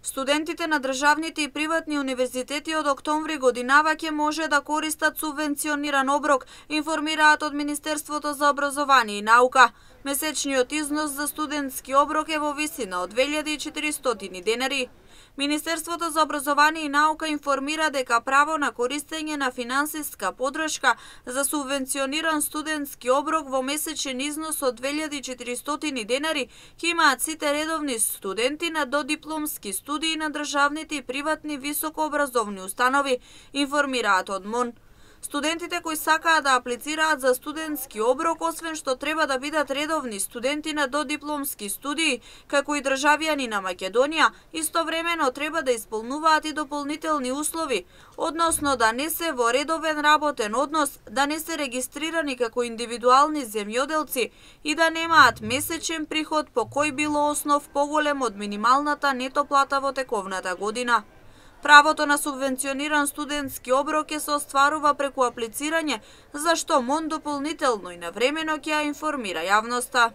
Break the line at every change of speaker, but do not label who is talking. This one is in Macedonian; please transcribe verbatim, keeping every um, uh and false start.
Студентите на државните и приватни универзитети од октомври годинава ќе може да користат субвенциониран оброк, информираат од Министерството за образование и наука. Месечниот износ за студентски оброк е во висина од две илјади и четиристотини денари. Министерството за образование и наука информира дека право на користење на финансиска подршка за субвенциониран студентски оброк во месечен износ од две илјади и четиристотини денари ќе имаат сите редовни студенти на додипломски студии на државните и приватни високообразовни установи, информираат од МОН. Студентите кои сакаат да аплицираат за студентски оброк, освен што треба да бидат редовни студенти на додипломски студии, како и државјани на Македонија, истовремено треба да исполнуваат и дополнителни услови, односно да не се во редовен работен однос, да не се регистрирани како индивидуални земјоделци и да немаат месечен приход по кој било основ поголем од минималната нето плата во тековната година. Правото на субвенциониран студентски оброк ќе се остварува преку аплицирање, за што МОН дополнително и навремено ќе ја информира јавноста.